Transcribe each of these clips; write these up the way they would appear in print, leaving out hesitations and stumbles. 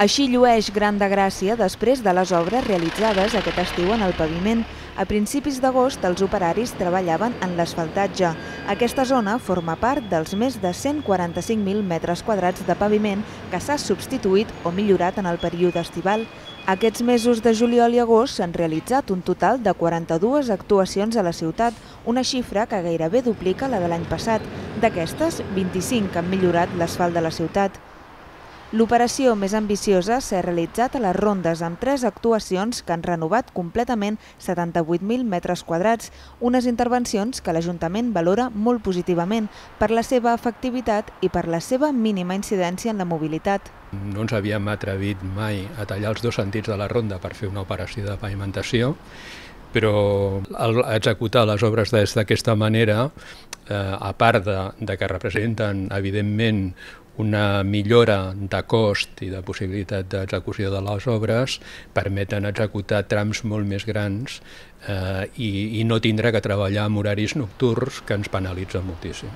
Així llueix Gran de Gràcia després de les obres realitzades aquest estiu en el paviment. A principis d'agost, els operaris treballaven en l'asfaltatge. Aquesta zona forma part dels més de 145.000 metres quadrats de paviment que s'ha substituït o millorat en el període estival. Aquests mesos de juliol i agost s'han realitzat un total de 42 actuacions a la ciutat, una xifra que gairebé duplica la de l'any passat. D'aquestes, 25 han millorat l'asfalt de la ciutat. L'operació més ambiciosa s'ha realitzat a les Rondes amb 3 actuacions que han renovat completament 78.000 metres quadrats, unes intervencions que l'Ajuntament valora molt positivament per la seva efectivitat i per la seva mínima incidència en la mobilitat. No ens havíem atrevit mai a tallar els 2 sentits de la ronda per fer una operació de pavimentació, però executar les obres d'aquesta manera, a part de que representen evidentment una millora de cost i de possibilitat d'execució de les obres, permeten executar trams molt més grans i no tindre que treballar en horaris nocturns que ens penalitzen moltíssim.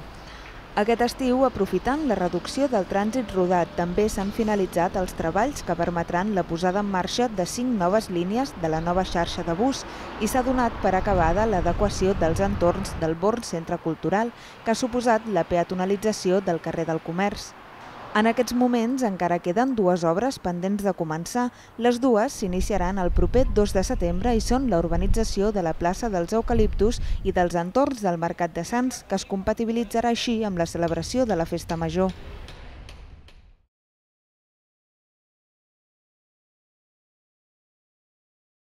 Aquest estiu, aprofitant la reducció del trànsit rodat, també s'han finalitzat els treballs que permetran la posada en marxa de 5 noves línies de la nova xarxa de bus i s'ha donat per acabada l'adequació dels entorns del Born Centre Cultural, que ha suposat la peatonalització del carrer del Comerç. En aquests moments encara queden 2 obres pendents de començar. Les dues s'iniciaran el proper 2 de setembre i són la urbanització de la plaça dels Eucaliptus i dels entorns del Mercat de Sants, que es compatibilitzarà així amb la celebració de la Festa Major.